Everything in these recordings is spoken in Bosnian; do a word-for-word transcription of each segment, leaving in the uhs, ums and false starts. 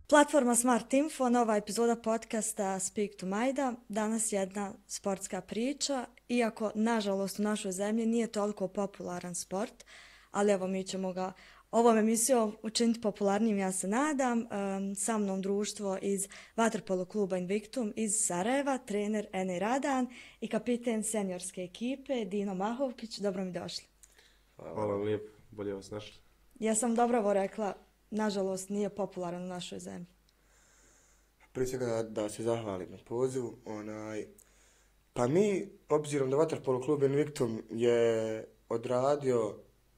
Platforma Smart Info, nova epizoda podcasta Speak to Majda. Danas jedna sportska priča, iako nažalost u našoj zemlji nije toliko popularan sport, ali evo mi ćemo ga ovom emisijom učiniti popularnijim, ja se nadam. Um, sa mnom društvo iz vaterpolo kluba Invictum iz Sarajeva, trener Ene Radan i kapiten seniorske ekipe Dino Mahovkić. Dobro mi došli. Hvala vam lijepo, bolje vas našli. Ja sam dobro ovo rekla, nažalost nije popularan u našoj zemlji. Prije svega da, da se zahvalim na pozivu. Onaj, pa mi, obzirom da vaterpolo klub Invictum je odradio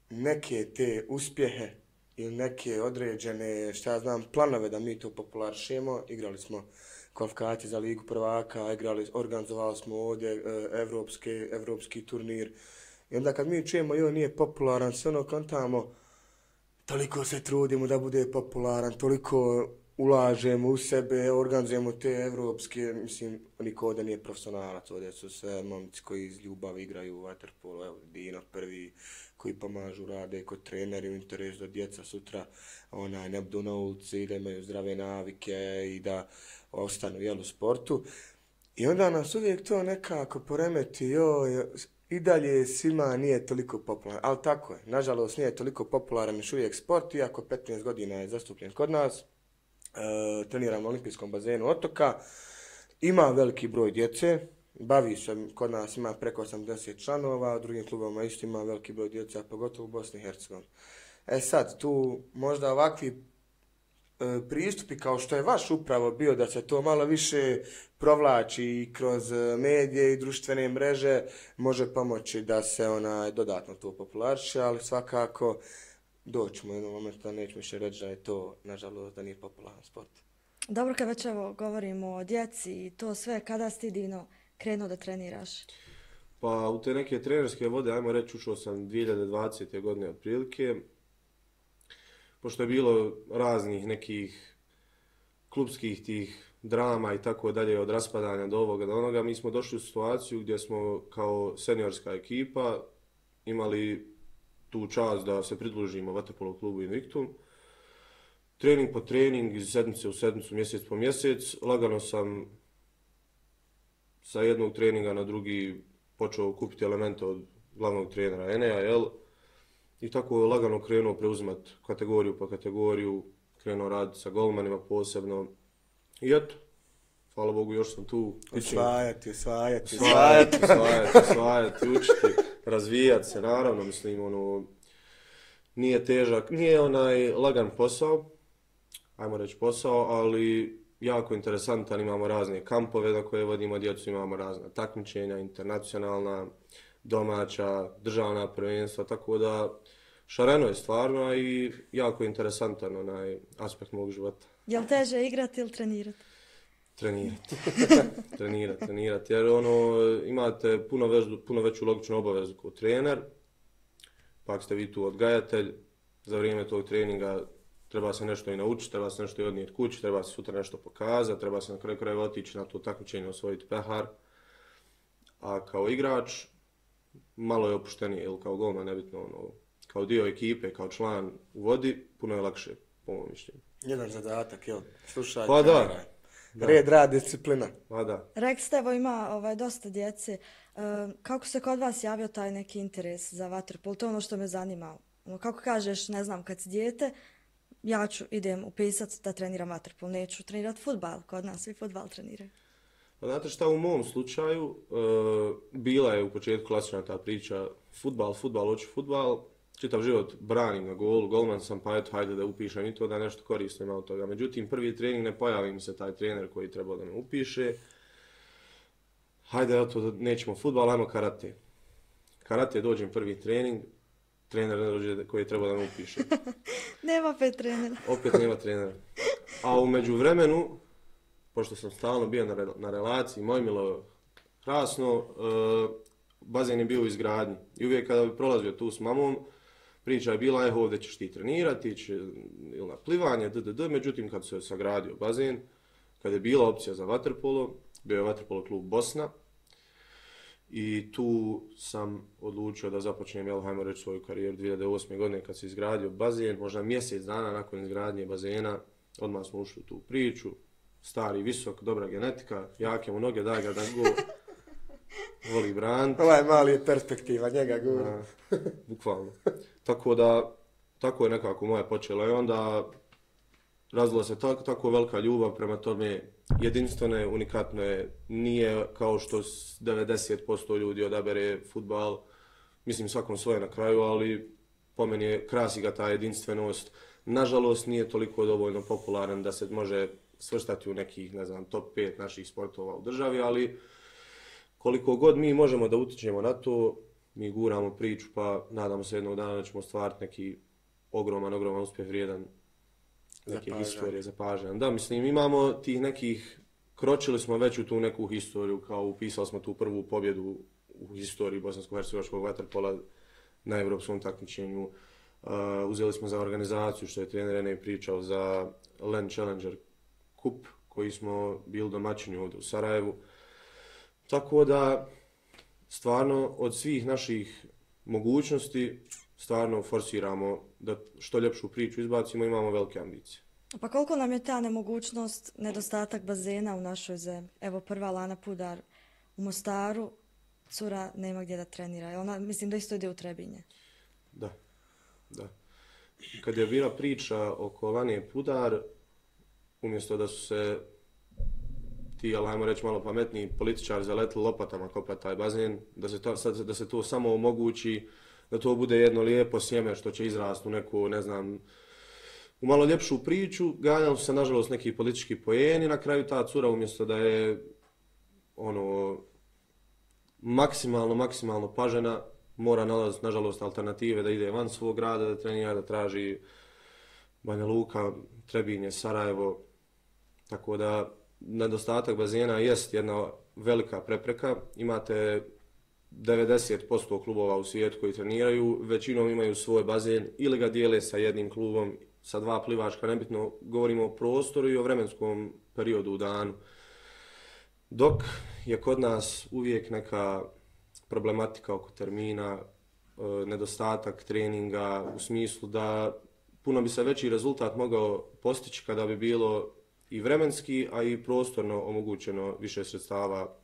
neke te uspjehe ili neke određene, šta ja znam, planove da mi to popularišemo, igrali smo kvalifikacije za ligu prvaka, igrali, organizovali smo ovdje evropske, evropski turnir. I onda kad mi čujemo joj nije popularan, sve ono kontamo, toliko se trudimo da bude popularan, toliko ulažemo u sebe, organizujemo te evropske, mislim, niko ovdje nije profesionalac, ovdje su sve momci koji iz ljubavi igraju u vaterpolo, evo, Dino prvi, koji pomažu, rade kod treneri u interesu da djeca sutra onaj, ne budu na ulici, da imaju zdrave navike i da ostanu jel, u sportu. I onda nas uvijek to nekako poremeti, joj, i dalje svima nije toliko popularan, ali tako je, nažalost nije toliko popularan još uvijek sport, iako petnaest godina je zastupljen kod nas. E, treniram na olimpijskom bazenu Otoka, ima veliki broj djece, bavi se, kod nas ima preko osamdeset članova, u drugim klubama isto ima veliki broj djece, a pogotovo u Bosni i Hercegovini. E sad, tu možda ovakvi e, pristupi kao što je vaš upravo bio, da se to malo više provlači kroz medije i društvene mreže, može pomoći da se ona dodatno to populariše, ali svakako doćemo u jednom momentu da nećemo više reći da je to, nažalost, da nije popularan sport. Dobro, kad već evo govorimo o djeci i to sve, kada si ti, Dino, krenuo da treniraš? Pa u te neke trenerske vode, ajmo reći, ušao sam dvije hiljade dvadesete godine otprilike. Pošto je bilo raznih nekih klubskih tih drama i tako dalje, od raspadanja do ovoga do onoga, mi smo došli u situaciju gdje smo kao seniorska ekipa imali tu čast da se pridružimo vaterpolo klubu Invictum. Trening po trening, iz sedmice u sedmicu, mjesec po mjesec. Lagano sam sa jednog treninga na drugi počeo kupiti elemente od glavnog trenera Enea, jel? I tako lagano krenuo preuzimati kategoriju po kategoriju, krenuo raditi sa golmanima posebno. I eto, hvala Bogu, još sam tu. Osvajati, osvajati, osvajati, osvajati, osvajati, učiti, razvijati se, naravno, mislim, ono, nije težak, nije onaj lagan posao, ajmo reći posao, ali jako interesantan, imamo razne kampove na koje vodimo djecu, imamo razna takmičenja, internacionalna, domaća, državna prvenstva, tako da šareno je stvarno i jako interesantan onaj aspekt mog života. Je li teže igrati ili trenirati? Trenirati. trenirati, trenirati. Jer ono, imate puno, vežu, puno veću logičnu obavezu kao trener, pa ako ste vi tu odgajatelj, za vrijeme tog treninga treba se nešto i naučiti, treba se nešto i odnijeti kući, treba se sutra nešto pokazati, treba se na kraju krajeva otići na to takmičenje, osvojiti pehar. A kao igrač, malo je opuštenije, ili kao golman, nebitno, ono, kao dio ekipe, kao član u vodi, puno je lakše, po mojom mišljenju. Jedan zadatak, jel? Slušaj, pa da. Da. Red, rad, disciplina. Pa da. Rekli ste, evo ima ovaj, dosta djece. E, kako se kod vas javio taj neki interes za vaterpolo? To je ono što me zanima. Ono, kako kažeš, ne znam, kad si dijete, ja ću, idem upisati da treniram vaterpolo, neću trenirati fudbal. Kod nas svi fudbal treniraju. Pa znate šta, u mom slučaju, e, bila je u početku klasična ta priča, fudbal, fudbal, hoću fudbal. Čitav život branim na golu, golman sam, pa eto, hajde da upišem i to da nešto koristim od toga. Međutim, prvi trening ne pojavi mi se taj trener koji treba da me upiše. Hajde, eto, nećemo fudbal, ajmo karate. Karate, dođem prvi trening, trener ne dođe koji treba da me upiše. Nema opet trenera. Opet nema trenera. A u međuvremenu, pošto sam stalno bio na, re, na relaciji, moj milo krasno, uh, bazen je bio u izgradnji. I uvijek kada bi prolazio tu s mamom, priča je bila, evo ovdje ćeš ti trenirati, će, ili na plivanje, dd. Međutim, kad se sagradio bazen, kada je bila opcija za vaterpolo, bio je vaterpolo klub Bosna, i tu sam odlučio da započnem, jel, hajmo reći, svoju karijeru dvije hiljade osme godine kad se izgradio bazen, možda mjesec dana nakon izgradnje bazena, odmah smo ušli u tu priču, stari, visok, dobra genetika, jake mu noge, daj ga da go, voli brand. Ovaj mali je perspektiva, njega gura. Bukvalno. Tako da, tako je nekako moje počelo i onda razvila se tako, tako velika ljubav prema tome, jedinstveno je, unikatno je, nije kao što devedeset posto ljudi odabere fudbal, mislim svakom svoje na kraju, ali po meni je krasi ga ta jedinstvenost. Nažalost nije toliko dovoljno popularan da se može svrstati u nekih, ne znam, top pet naših sportova u državi, ali koliko god mi možemo da utičemo na to, mi guramo priču, pa nadamo se jednog dana da ćemo ostvariti neki ogroman, ogroman uspjeh vrijedan neke historije zapažen. Da, mislim, imamo tih nekih, kročili smo već u tu neku historiju, kao upisali smo tu prvu pobjedu u historiji bosansko-hercegovačkog vaterpola na evropskom takmičenju. Uh, uzeli smo za organizaciju, što je trener Ene pričao, za Land Challenger Cup, koji smo bili domaćini ovdje u Sarajevu. Tako da, stvarno, od svih naših mogućnosti, stvarno forsiramo da što ljepšu priču izbacimo, imamo velike ambicije. Pa koliko nam je ta nemogućnost, nedostatak bazena u našoj zemlji? Evo prva Lana Pudar u Mostaru, cura nema gdje da trenira. Ona, mislim da isto ide u Trebinje. Da, da. Kad je bila priča oko Lane Pudar, umjesto da su se ti, ali ajmo reći malo pametniji, političari zaletili lopatama kopati taj bazen, da se, to, da se to samo omogući, da to bude jedno lijepo sjeme što će izrasti u neku, ne znam, u malo ljepšu priču, ganjali su se nažalost neki politički poeni, na kraju ta cura umjesto da je ono maksimalno, maksimalno pažena, mora nalaziti nažalost alternative da ide van svog grada, da trenira, da traži Banja Luka, Trebinje, Sarajevo, tako da nedostatak bazena jest jedna velika prepreka. Imate devedeset posto klubova u svijetu koji treniraju, većinom imaju svoj bazen ili ga dijele sa jednim klubom, sa dva plivačka, nebitno, govorimo o prostoru i o vremenskom periodu u danu. Dok je kod nas uvijek neka problematika oko termina, nedostatak treninga u smislu da puno bi se veći rezultat mogao postići kada bi bilo i vremenski, a i prostorno omogućeno više sredstava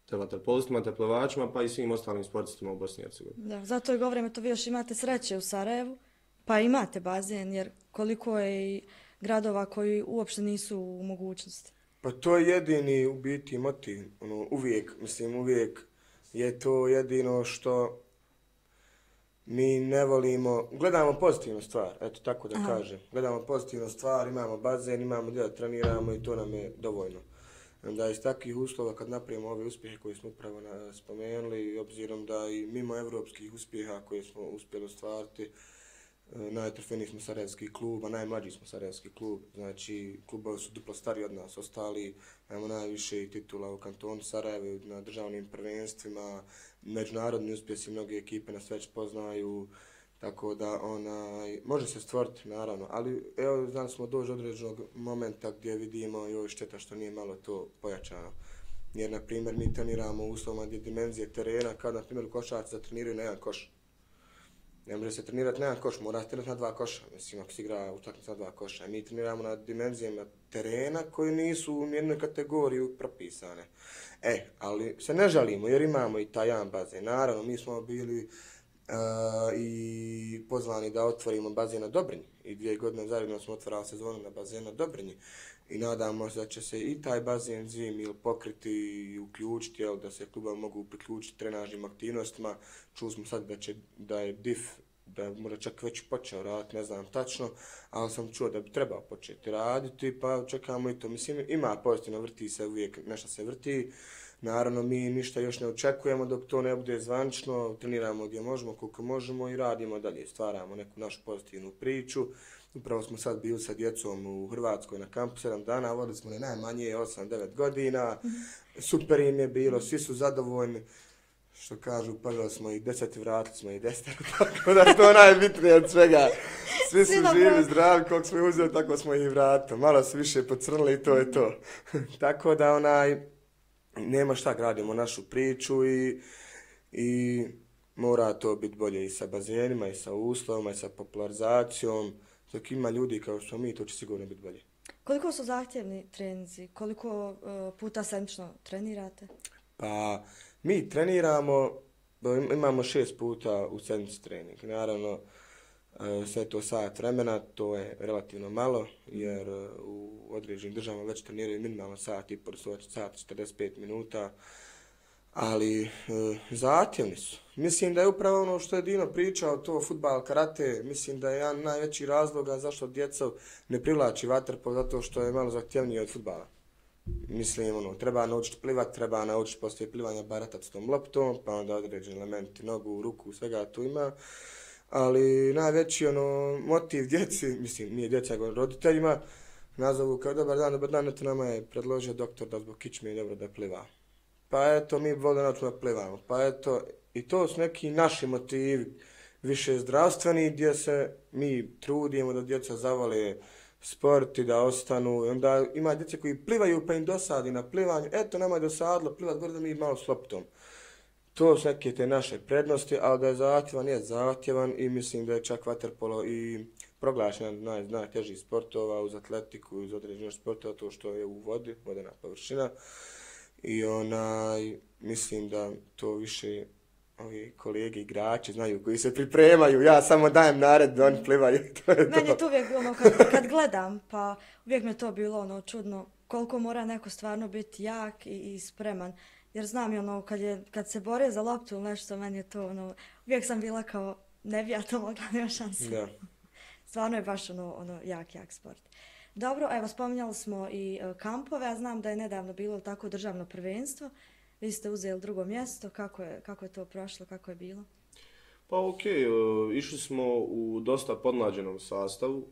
te vaterpolistima, te plivačima, pa i svim ostalim sportistima u Bosni i Hercegovini. Da, zato i govorimo to, vi još imate sreće u Sarajevu, pa imate bazen, jer koliko je i gradova koji uopšte nisu u mogućnosti. Pa to je jedini u biti motiv, ono, uvijek, mislim uvijek je to jedino što mi ne volimo, gledamo pozitivnu stvar, eto tako da Aha. kažem, gledamo pozitivnu stvar, imamo bazen, imamo gdje da treniramo i to nam je dovoljno. Da iz takvih uslova kad napravimo ove uspjehe koje smo upravo spomenuli, obzirom da i mimo evropskih uspjeha koje smo uspjeli ostvariti, najtrofejniji smo sarajevski klub, a najmlađi smo sarajevski klub, znači klubovi su duplo stariji od nas, ostali imamo najviše titula u kantonu Sarajevo, na državnim prvenstvima, međunarodni uspjesi, mnoge ekipe nas već poznaju, tako da onaj, može se stvoriti naravno, ali evo znali smo doći određenog momenta gdje vidimo joj šteta što nije malo to pojačano. Jer na primjer mi treniramo u uslovima gdje dimenzije terena, kao na primjer u košarci da treniraju na jedan koš. Ne može se trenirati na jedan koš, mora se trenirati na dva koša, mislim ako se igra utakmica na dva koša. Mi treniramo na dimenzijama terena koji nisu u nijednoj kategoriji propisane. E, ali se ne žalimo jer imamo i taj jedan bazen. Naravno, mi smo bili Uh, i pozvani da otvorimo bazen na Dobrinji i dvije godine zajedno smo otvarali sezonu na bazenu na Dobrinji i nadamo se da će se i taj bazen zim ili pokriti i uključiti, jel, da se kluba mogu priključiti trenažnim aktivnostima. Čuli smo sad da, će, da je D I F, da možda čak već počeo raditi, ne znam tačno, ali sam čuo da bi trebao početi raditi, pa čekamo i to. Mislim, ima pozitivno, vrti se uvijek, nešto se vrti. Naravno, mi ništa još ne očekujemo dok to ne bude zvančno, treniramo gdje možemo, koliko možemo i radimo dalje, stvaramo neku našu pozitivnu priču. Upravo smo sad bili sa djecom u Hrvatskoj na kampu sedam dana, vodili smo ne najmanje osam devet godina, super im je bilo, svi su zadovoljni. Što kažu, pogledali smo ih deset i vratili smo ih deset, tako da je to najbitnije od svega. Svi su živi, zdravi, koliko smo ih uzeli, tako smo ih vratili. Malo su više pocrnili i to je to. Tako da onaj, nema šta, gradimo našu priču i, i mora to biti bolje i sa bazenima, i sa uslovima, i sa popularizacijom. Dok ima ljudi kao što mi, to će sigurno biti bolje. Koliko su zahtjevni treninzi? Koliko uh, puta sedmično trenirate? Pa mi treniramo, imamo šest puta u sedmici trening. Naravno, sve to sat vremena, to je relativno malo, jer u određenim državama već treniraju minimalno sat i po, sat četrdeset pet minuta, ali e, zahtjevni su. Mislim da je upravo ono što je Dino pričao, to fudbal, karate, mislim da je jedan najveći razloga zašto djeca ne privlači vaterpolo, zato što je malo zahtjevnije od fudbala. Mislim, ono, treba naučiti plivat, treba naučiti poslije plivanja baratati s tom loptom, pa onda određeni elementi, nogu, ruku, svega tu ima. Ali najveći ono, motiv djeci, mislim, nije djeca, nego roditeljima, nazovu kao dobar dan, dobar dan, eto nama je predložio doktor da zbog kičme je dobro da pliva. Pa eto, mi volimo naučimo da plivamo. Pa eto, i to su neki naši motivi, više zdravstveni, gdje se mi trudimo da djeca zavole sport i da ostanu. I onda ima djece koji plivaju pa im dosadi na plivanju. Eto, nama je dosadilo plivat, gore da mi malo s loptom. To su neke te naše prednosti, ali da je zahtjevan, je zahtjevan i mislim da je čak vaterpolo i proglašen naj, najtežih sportova uz atletiku, uz određenih sportova, to što je u vodi, vodena površina. I onaj, mislim da to više ovi kolege igrači znaju koji se pripremaju, ja samo dajem nared da oni plivaju. To je Meni to. je to uvijek ono, kad, kad gledam, pa uvijek mi je to bilo ono čudno, koliko mora neko stvarno biti jak i, i spreman. Jer znam i ono, kad, je, kad se bore za loptu ili nešto, meni je to ono, uvijek sam bila kao, ne bi ja to mogla, nema šanse. Da. Stvarno je baš ono, ono jak, jak sport. Dobro, evo spominjali smo i uh, kampove, ja znam da je nedavno bilo tako državno prvenstvo. Vi ste uzeli drugo mjesto, kako je, kako je to prošlo, kako je bilo? Pa okej, okay, uh, išli smo u dosta podmlađenom sastavu.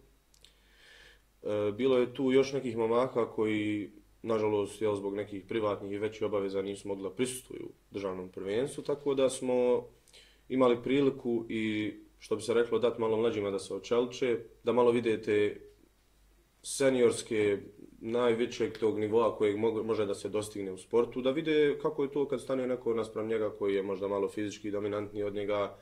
Uh, bilo je tu još nekih momaka koji, nažalost, jel, zbog nekih privatnih i većih obaveza nisu mogli da prisustvuju državnom prvenstvu, tako da smo imali priliku i, što bi se reklo, dati malo mlađima da se očeliče, da malo vidite seniorske, najvećeg tog nivoa kojeg može da se dostigne u sportu, da vide kako je to kad stane neko naspram njega koji je možda malo fizički dominantniji od njega.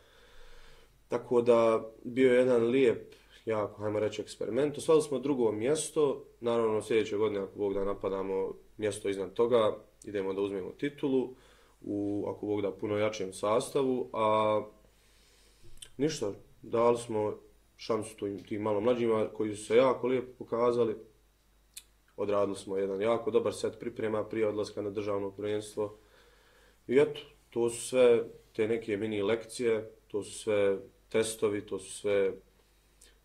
Tako da bio je jedan lijep, jako, hajmo reći, eksperiment. Osvali smo drugo mjesto, naravno sljedeće godine ako Bog da napadamo mjesto iznad toga, idemo da uzmemo titulu u, ako Bog da, puno jačem sastavu, a ništa, dali smo šansu tim, tim malo mlađima koji su se jako lijepo pokazali. Odradili smo jedan jako dobar set priprema prije odlaska na državno prvenstvo. I eto, to su sve te neke mini lekcije, to su sve testovi, to su sve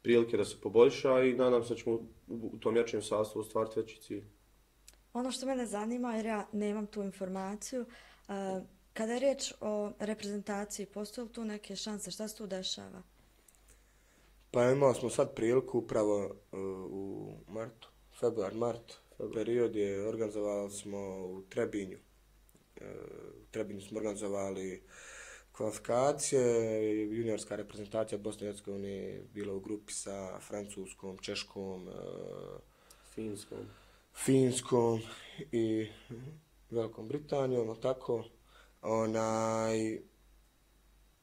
prilike da se poboljša i nadam se da ćemo u tom jačem sastavu ostvariti veći cilj. Ono što mene zanima, jer ja nemam tu informaciju, uh, kada je riječ o reprezentaciji, postoje li tu neke šanse, šta se tu dešava? Pa imali smo sad priliku upravo uh, u martu, februar, mart, period je organizovali smo u Trebinju. Uh, u Trebinju smo organizovali kvalifikacije, juniorska reprezentacija Bosne i Hercegovine je bila u grupi sa Francuskom, Češkom, uh, Finskom. Finskom i Velikom Britanijom, tako. Onaj,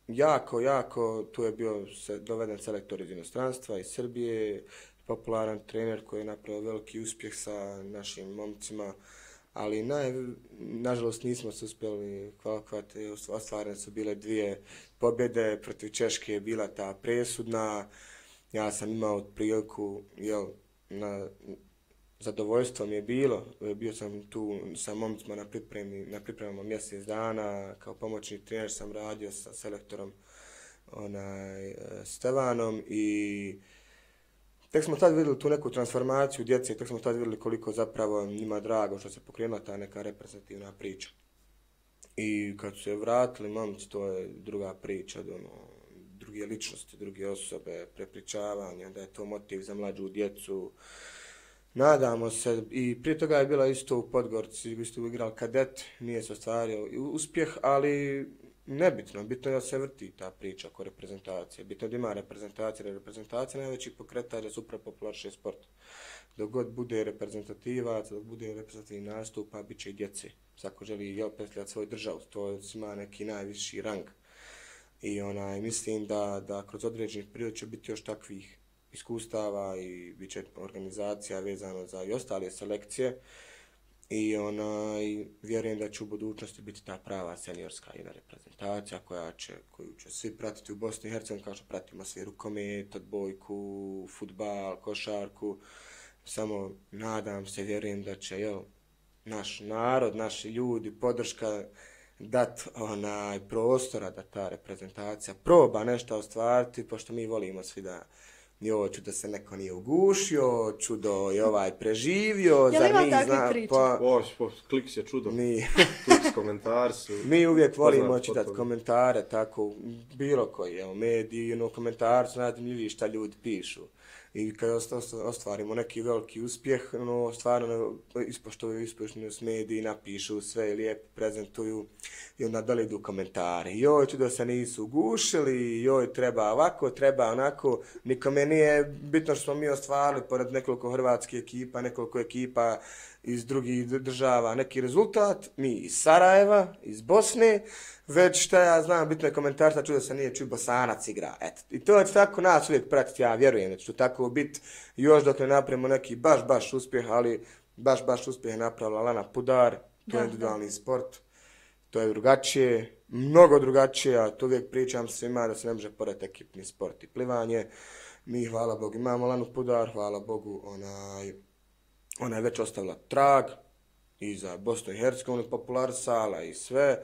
jako, jako, tu je bio se, doveden selektor iz inostranstva, iz Srbije, popularan trener koji je napravio veliki uspjeh sa našim momcima, ali naj, nažalost nismo se uspjeli kvalifikovati, ostvarene su bile dvije pobjede, protiv Češke je bila ta presudna, ja sam imao priliku, jel, na zadovoljstvo mi je bilo, bio sam tu sa momcima na pripremi, na pripremama mjesec dana, kao pomoćni trener sam radio sa selektorom onaj, Stevanom i tek smo tad vidjeli tu neku transformaciju djece, tek smo tad vidjeli koliko zapravo njima drago što se pokrenula ta neka reprezentativna priča. I kad su se vratili momci, to je druga priča, ono, druge ličnosti, druge osobe, prepričavanje, da je to motiv za mlađu djecu. Nadamo se, i prije toga je bila isto u Podgorici, isto igrali kadet, nije se ostvario uspjeh, ali nebitno, bitno je da se vrti ta priča oko reprezentacije, bitno je da ima reprezentacija, jer reprezentacija najveći pokretač je upravo popularši sport. Dok god bude reprezentativac, dok bude reprezentativni nastupa, bit će i djece. Svako želi jel predstavljati svoju državu, to ima neki najviši rang. I onaj, mislim da, da kroz određeni period će biti još takvih iskustava i bit će organizacija vezano za i ostale selekcije. I onaj, vjerujem da će u budućnosti biti ta prava seniorska jedna reprezentacija koja će, koju će svi pratiti u Bosni i Hercegovini, kao što pratimo svi rukomet, odbojku, fudbal, košarku. Samo nadam se, vjerujem da će jel, naš narod, naši ljudi, podrška dat onaj prostora da ta reprezentacija proba nešto ostvariti, pošto mi volimo svi da joj, čudo se neko nije ugušio, čudo je ovaj preživio, zar mi zna... Pa, o, po, klik se čudo, mi, klik komentar su... mi uvijek volimo čitati komentare, tako, bilo koji, evo, mediji, ono, komentar su najzanimljiviji šta ljudi pišu. I kad ostvarimo neki veliki uspjeh, ono, stvarno ispoštovaju uspješnost mediji, napišu sve, lijepo prezentuju i onda dole idu komentari. Joj, čudo se nisu ugušili, joj, treba ovako, treba onako. Nikome nije bitno što smo mi ostvarili, pored nekoliko hrvatskih ekipa, nekoliko ekipa iz drugih država, neki rezultat, mi iz Sarajeva, iz Bosne, već šta ja znam, bitno je komentar, šta čudo se nije čuj Bosanac igra. Eto. I to će tako nas uvijek pratiti, ja vjerujem da će to tako biti još dok ne napravimo neki baš, baš uspjeh, ali baš, baš uspjeh je napravila Lana Pudar, to je individualni sport, to je drugačije, mnogo drugačije, a to uvijek pričam svima da se ne može porediti ekipni sport i plivanje. Mi, hvala Bogu, imamo Lanu Pudar, hvala Bogu, onaj, ona je već ostavila trag i za Bosnu i Hercegovinu popularisala i sve,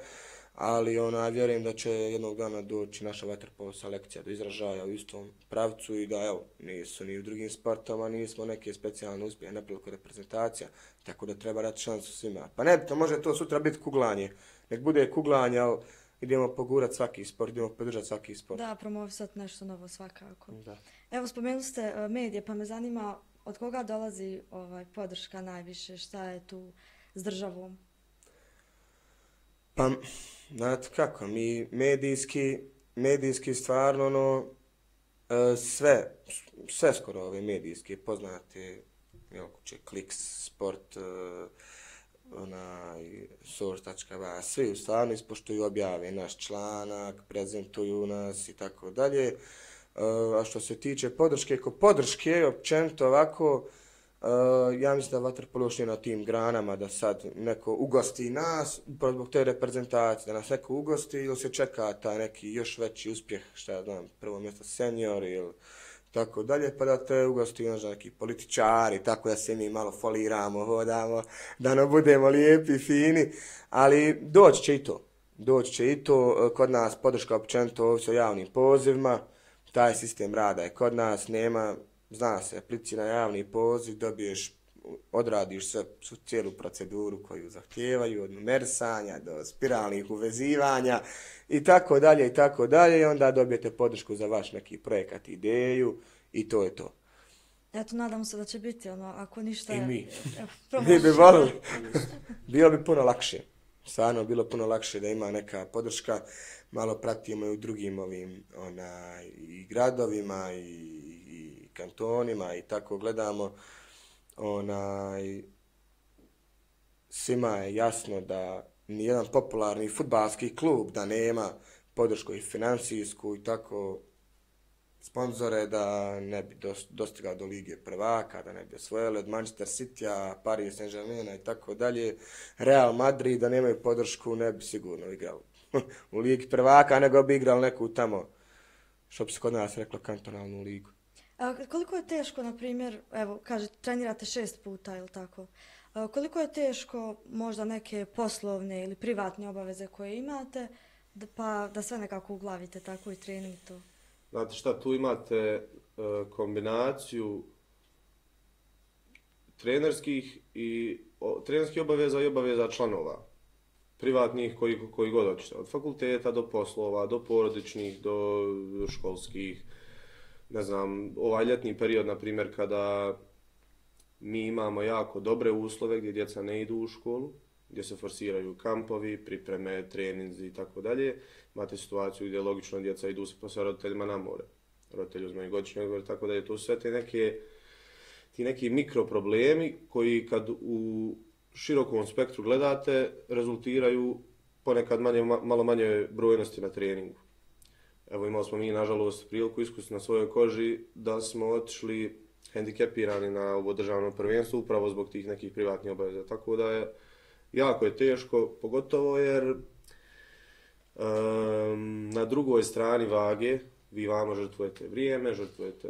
ali ona, vjerujem da će jednog dana doći naša vaterpolo selekcija do izražaja u istom pravcu i da, evo, nisu ni u drugim sportama, nismo neke specijalne uspjehe napravili kod reprezentacija, tako da treba dati šansu svima. Pa ne, to može to sutra biti kuglanje, nek bude kuglanje, ali idemo pogurati svaki sport, idemo podržati svaki sport. Da, promovisati nešto novo svakako. Da. Evo, spomenuli ste uh, medije, pa me zanima od koga dolazi ovaj, podrška najviše, šta je tu s državom? Pa, znate kako, mi medijski, medijski stvarno, ono, sve, sve skoro ove medijske poznate, jel, kuće, Kliks, Sport, onaj, source.ba, svi u stvarno ispoštuju, objave naš članak, prezentuju nas i tako dalje. A što se tiče podrške, ko podrške, općenito ovako, Uh, ja mislim da vaterpolo još nije na tim granama da sad neko ugosti nas zbog te reprezentacije, da nas neko ugosti ili se čeka taj neki još veći uspjeh, šta ja znam, prvo mjesto senior ili tako dalje, pa da te ugosti možda neki političari, tako da se mi malo foliramo, hodamo, da ne budemo lijepi, fini, ali doći će i to. Doći će i to, kod nas podrška općenito ovisi o javnim pozivima, taj sistem rada je kod nas, nema, zna se, aplicira javni poziv, dobiješ, odradiš sve, cijelu proceduru koju zahtijevaju, od numerisanja do spiralnih uvezivanja i tako dalje i tako dalje i onda dobijete podršku za vaš neki projekat, ideju i to je to. Eto, nadamo se da će biti ono, ako ništa... I mi. Evo, mi bi volili. Bilo bi puno lakše. Stvarno, bilo puno lakše da ima neka podrška. Malo pratimo i u drugim ovim onaj, i gradovima i, i kantonima i tako gledamo. Onaj, svima je jasno da nijedan popularni fudbalski klub da nema podršku i financijsku i tako sponzore da ne bi dostigao do Lige prvaka, da ne bi osvojili od Manchester Citya, Paris Saint-Germaina i tako dalje. Real Madrid da nemaju podršku ne bi sigurno igrali u Ligi prvaka, nego bi igrali neku tamo, što bi se kod nas reklo, kantonalnu ligu. A koliko je teško, na primjer, evo, kaže, trenirate šest puta ili tako, a koliko je teško možda neke poslovne ili privatne obaveze koje imate, da, pa da sve nekako uglavite, tako i trening to? Znate šta, tu imate uh, kombinaciju trenerskih i o, trenerskih obaveza i obaveza članova. Privatnih koji, koji god hoćete. Od fakulteta do poslova, do porodičnih, do školskih. Ne znam, ovaj ljetni period, na primjer, kada mi imamo jako dobre uslove gdje djeca ne idu u školu, gdje se forsiraju kampovi, pripreme, treninzi i tako dalje. Imate situaciju gdje logično djeca idu sa posle roditeljima na more. Roditelji uzmaju godišnji odmor, tako dalje. To su sve te neke, ti neki mikroproblemi koji kad u širokom spektru gledate rezultiraju ponekad manje, malo manje brojnosti na treningu. Evo imali smo mi nažalost priliku iskusiti na svojoj koži da smo otišli hendikepirani na ovo državno prvenstvo upravo zbog tih nekih privatnih obaveza. Tako da je jako je teško, pogotovo jer um, na drugoj strani vage vi vamo žrtvujete vrijeme, žrtvujete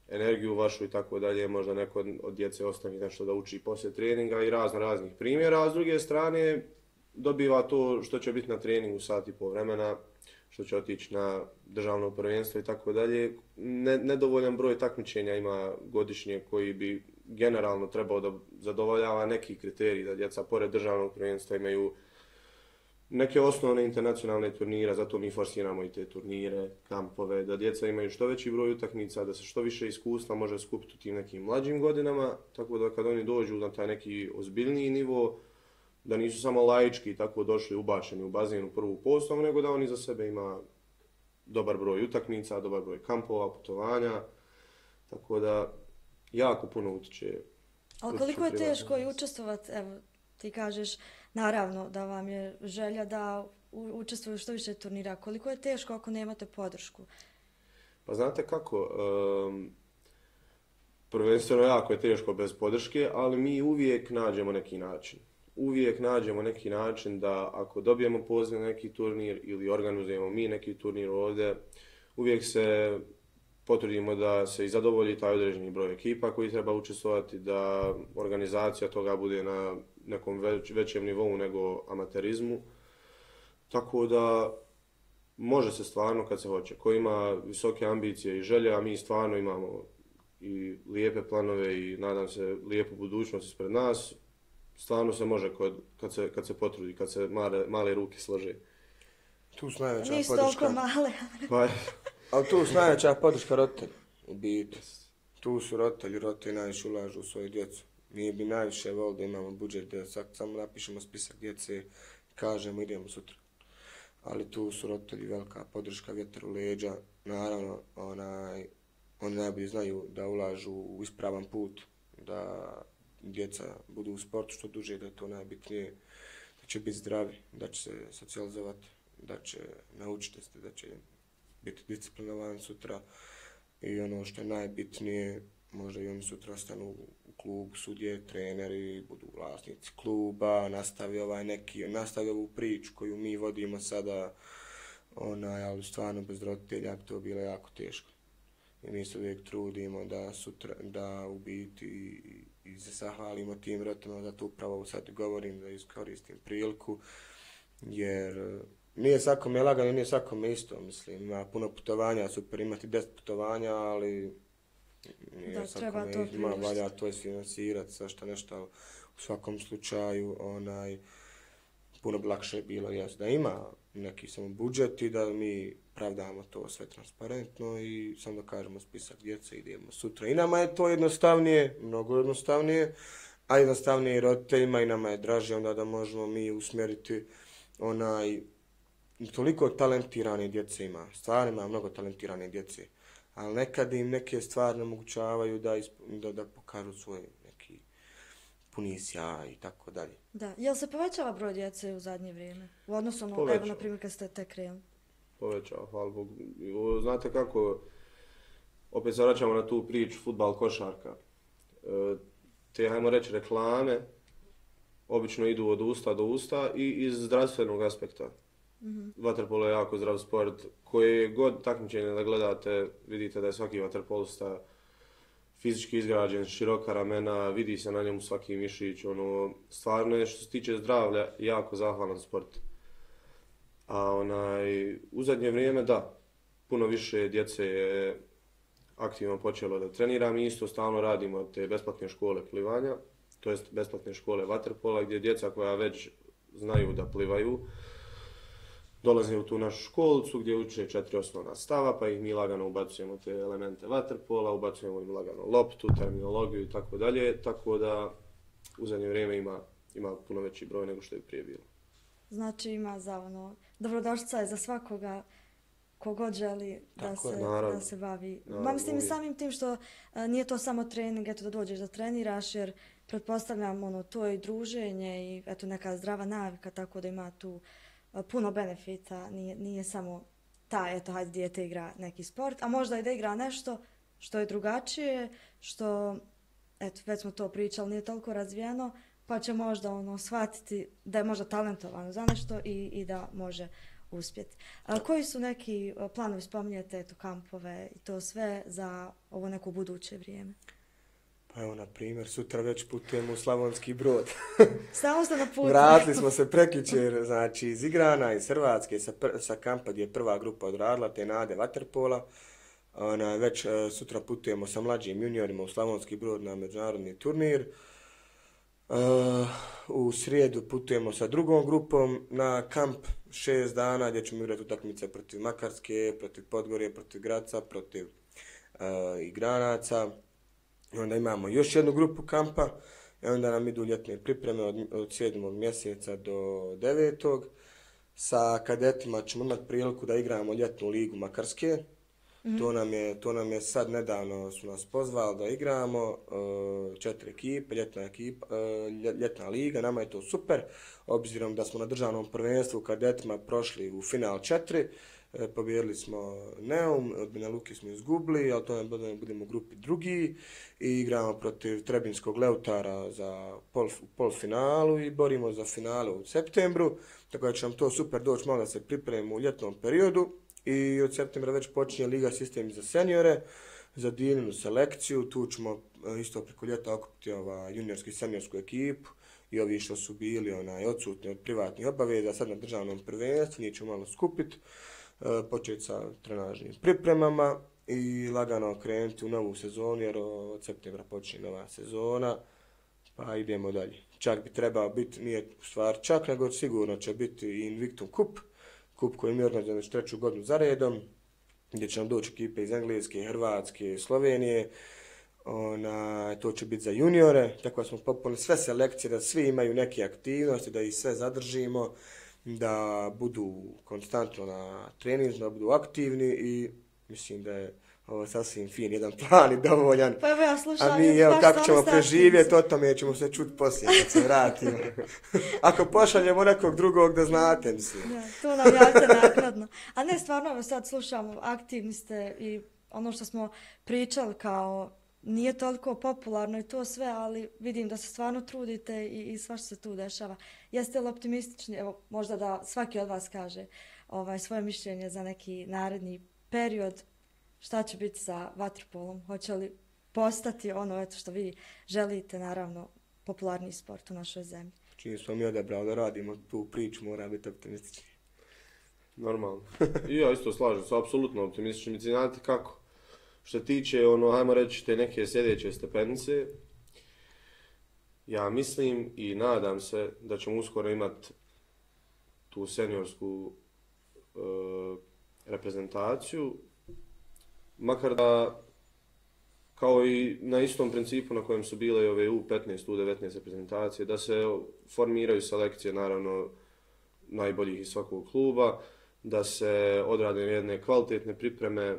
energiju vašu i tako dalje, možda neko od djece ostavi nešto da uči poslije treninga i razno raznih primjera, a s druge strane dobiva to što će biti na treningu sat i pol vremena, što će otići na državno prvenstvo i tako dalje. Nedovoljan broj takmičenja ima godišnje koji bi generalno trebao da zadovoljava neki kriterij da djeca pored državnog prvenstva imaju neke osnovne internacionalne turnire, zato mi forsiramo i te turnire, kampove, da djeca imaju što veći broj utakmica, da se što više iskustva može skupiti u tim nekim mlađim godinama, tako da kad oni dođu na taj neki ozbiljniji nivo, da nisu samo laički tako došli ubačeni u bazen u prvu postavu, nego da oni za sebe ima dobar broj utakmica, dobar broj kampova, putovanja, tako da jako puno utiče. Ali koliko je teško i učestvovati, evo ti kažeš, naravno da vam je želja da učestvuju što više turnira, koliko je teško ako nemate podršku? Pa znate kako, um, prvenstveno jako je teško bez podrške, ali mi uvijek nađemo neki način. Uvijek nađemo neki način da ako dobijemo poziv na neki turnir ili organizujemo mi neki turnir ovdje, uvijek se potrudimo da se i zadovolji taj određeni broj ekipa koji treba učestvovati, da organizacija toga bude na nekom već, većem nivou nego amaterizmu. Tako da može se stvarno kad se hoće. Ko ima visoke ambicije i želje, a mi stvarno imamo i lijepe planove i nadam se lijepu budućnost ispred nas, stvarno se može kod, kad, se, kad se potrudi, kad se male, male ruke slože. Tu su najveća Nisu podrška. toliko male. Pa, Ali tu su najveća podrška roditelja, u biti. Tu su roditelji, roditelji najviše ulažu u svoju djecu. Mi bi najviše volili da imamo budžet, da samo napišemo spisak djece, kažemo idemo sutra. Ali tu su roditelji velika podrška, vjetar u leđa. Naravno, onaj, oni najbolje znaju da ulažu u ispravan put, da djeca budu u sportu što duže, da je to najbitnije, da će biti zdravi, da će se socijalizovati, da će naučiti se, da će biti disciplinovani sutra i ono što je najbitnije, možda i oni sutra ostanu u klubu, sudje, treneri, budu vlasnici kluba, nastavi ovaj neki, nastavi ovu priču koju mi vodimo sada, onaj, ali stvarno bez roditelja bi to bilo jako teško. I mi se uvijek trudimo da sutra, da u biti i, i se zahvalimo tim roditeljima, zato upravo sad govorim da iskoristim priliku, jer nije svakome lagano, nije svakome isto, mislim, ima puno putovanja, super imati deset putovanja, ali nije da, svakome to ima, valja to isfinansirati, svašta nešto, u svakom slučaju, onaj, puno bi lakše bilo, jes, da ima neki samo budžet i da mi pravdamo to sve transparentno i samo da kažemo spisak djece, idemo sutra. I nama je to jednostavnije, mnogo jednostavnije, a jednostavnije i roditeljima i nama je draže onda da možemo mi usmjeriti onaj, toliko talentirane djece ima, stvarno ima mnogo talentirane djece, ali nekad im neke stvari omogućavaju da, da, da pokažu svoj neki puni sjaj i tako dalje. Da, jel se povećava broj djece u zadnje vrijeme? U odnosu na, evo, na primjer, kad ste tek krenuli? Povećava, hvala Bogu. Znate kako, opet se vraćamo na tu priču, fudbal, košarka. Te, hajmo reći, reklame obično idu od usta do usta i iz zdravstvenog aspekta. Mm-hmm. Vaterpolo je jako zdrav sport. Koje god takmičenje da gledate, vidite da je svaki vaterpolista fizički izgrađen, široka ramena, vidi se na njemu svaki mišić. Ono, stvarno je što se tiče zdravlja jako zahvalan sport. A onaj, u zadnje vrijeme da, puno više djece je aktivno počelo da trenira. Mi isto stalno radimo te besplatne škole plivanja, to jest besplatne škole vaterpola, gdje djeca koja već znaju da plivaju, dolaze u tu našu školicu gdje uče četiri osnovna stava, pa ih mi lagano ubacujemo te elemente vaterpola, ubacujemo im lagano loptu, terminologiju i tako dalje, tako da u zadnje vrijeme ima, ima puno veći broj nego što je prije bilo. Znači ima za ono, dobrodošlica je za svakoga kogod želi da se, da se bavi. Ma mislim i samim tim što a, nije to samo trening, eto da dođeš da treniraš, jer pretpostavljam ono, to je i druženje i eto neka zdrava navika, tako da ima tu a, puno benefita, nije, nije samo ta, eto, hajde dijete igra neki sport, a možda i da igra nešto što je drugačije, što, eto, već smo to pričali, nije toliko razvijeno, pa će možda ono shvatiti da je možda talentovano za nešto i, i da može uspjeti. A, koji su neki planovi, spominjete, eto, kampove i to sve za ovo neko buduće vrijeme? Pa evo, na primjer, sutra već putujemo u Slavonski Brod. Stalno ste na putu. Vratili smo se prekjučer, znači, iz Igrana, iz Hrvatske, sa, pr sa kampa gdje je prva grupa odradila, te Nade Vaterpola. Ona, već uh, sutra putujemo sa mlađim juniorima u Slavonski Brod na međunarodni turnir. Uh, u srijedu putujemo sa drugom grupom na kamp šest dana gdje ćemo igrati utakmice protiv Makarske, protiv Podgorje, protiv Graca, protiv uh, Igranaca. I onda imamo još jednu grupu kampa i onda nam idu ljetne pripreme od, od sedmog mjeseca do devetog. Sa kadetima ćemo imati priliku da igramo ljetnu ligu Makarske. Mm-hmm. To nam je, to nam je sad nedavno su nas pozvali da igramo uh, četiri ekipe, ljetna, ekipa, uh, ljetna liga, nama je to super, obzirom da smo na državnom prvenstvu u kadetima prošli u final četiri, uh, pobjedili smo Neum, od Banja Luke smo izgubili, ali to ne budemo, budemo u grupi drugi i igramo protiv Trebinskog Leutara za pol, polfinalu i borimo za finalu u septembru, tako da će nam to super doći malo da se pripremimo u ljetnom periodu. I od septembra već počinje Liga sistemi za seniore, za Dininu selekciju, tu ćemo isto preko ljeta okupiti ova juniorsku i seniorsku ekipu i ovi što su bili onaj, odsutni od privatnih obaveza, sad na državnom prvenstvu, njih ćemo malo skupiti, početi sa trenažnim pripremama i lagano krenuti u novu sezonu jer od septembra počinje nova sezona, pa idemo dalje. Čak bi trebao biti, nije u stvari čak, nego sigurno će biti i Invictum Cup, kup koji mi organizujemo već treću godinu za redom, gdje će nam doći ekipe iz Engleske, Hrvatske, Slovenije. Ona, to će biti za juniore, tako da smo popunili sve selekcije, da svi imaju neke aktivnosti, da ih sve zadržimo, da budu konstantno na treningu, da budu aktivni i mislim da je ovo sasvim fin jedan plan i dovoljan. Pa evo ja slušam. A mi evo kako ćemo preživjeti, o tome ćemo se čuti poslije kad se vratimo. Ako pošaljemo nekog drugog da znate, mislim. Ja, to nam javite naknadno. A ne, stvarno sad slušamo, aktivni ste i ono što smo pričali kao nije toliko popularno i to sve, ali vidim da se stvarno trudite i, i svašta se tu dešava. Jeste li optimistični? Evo, možda da svaki od vas kaže ovaj, svoje mišljenje za neki naredni period. Šta će biti sa vaterpolom? Hoće li postati ono eto što vi želite, naravno, popularni sport u našoj zemlji? Čim smo mi odabrali da radimo tu priču, mora biti optimistični. Normalno. I ja isto slažem se, apsolutno optimistični. Mislim, znate kako? Što tiče, ono, hajmo reći, te neke sljedeće stepenice, ja mislim i nadam se da ćemo uskoro imati tu seniorsku e, reprezentaciju, makar da, kao i na istom principu na kojem su bile ove U petnaest, U devetnaest reprezentacije, da se formiraju selekcije, naravno, najboljih iz svakog kluba, da se odrade jedne kvalitetne pripreme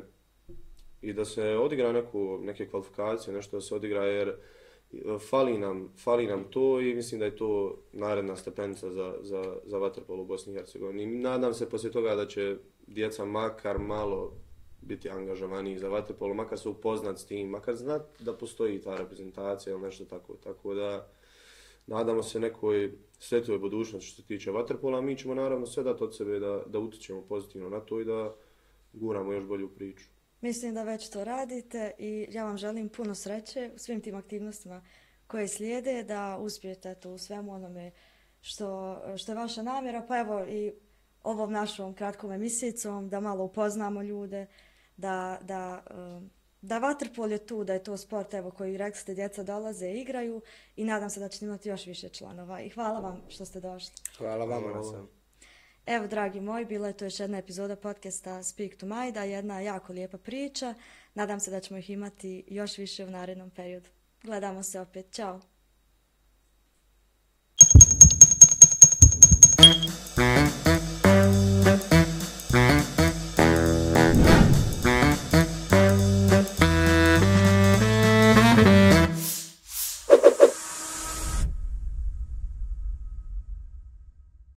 i da se odigra neku, neke kvalifikacije, nešto da se odigra, jer fali nam, fali nam to i mislim da je to naredna stepenica za, za, za vaterpol u Bosni i Hercegovini. Nadam se poslije toga da će djeca makar malo biti angažovaniji za vaterpolo, makar se upoznat s tim, makar znat da postoji ta reprezentacija ili nešto tako. Tako da nadamo se nekoj svetloj budućnosti što se tiče vaterpola, mi ćemo naravno sve dati od sebe da, da utičemo pozitivno na to i da guramo još bolju priču. Mislim da već to radite i ja vam želim puno sreće u svim tim aktivnostima koje slijede, da uspijete to u svemu onome što, što je vaša namjera, pa evo i ovom našom kratkom emisijicom da malo upoznamo ljude, da, da, da vaterpol je tu, da je to sport evo, koji rekli ste djeca dolaze i igraju i nadam se da ćete imati još više članova i hvala vam što ste došli. Hvala vam na sam. Evo, dragi moji, bila je to još jedna epizoda podcasta Speak to Majda, jedna jako lijepa priča. Nadam se da ćemo ih imati još više u narednom periodu. Gledamo se opet. Ćao!